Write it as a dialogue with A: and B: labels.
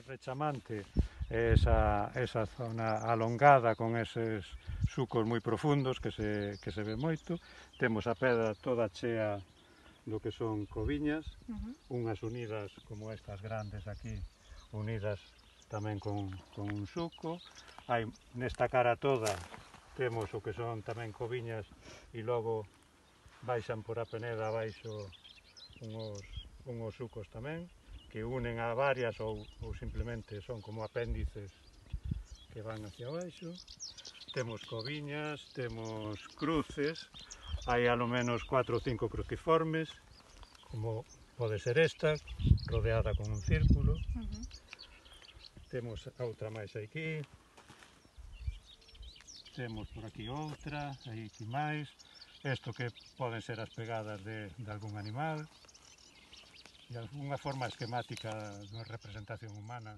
A: rechamante, esa zona alongada con eses sucos moi profundos que se ve moito. Temos a pedra toda chea do que son coviñas, unhas unidas como estas grandes aquí, unidas tamén con un suco. Hai nesta cara toda temos o que son tamén coviñas e logo baixan por a peneda abaixo unhos sucos tamén que unen a varias ou simplemente son como apéndices que van hacia abaixo. Temos coviñas, temos cruces, hai alo menos 4 ou 5 cruciformes, como pode ser esta, rodeada con un círculo. Temos outra máis aquí, temos por aquí outra, aí aquí máis, isto que poden ser as pegadas de algún animal, e algunha forma esquemática de representación humana.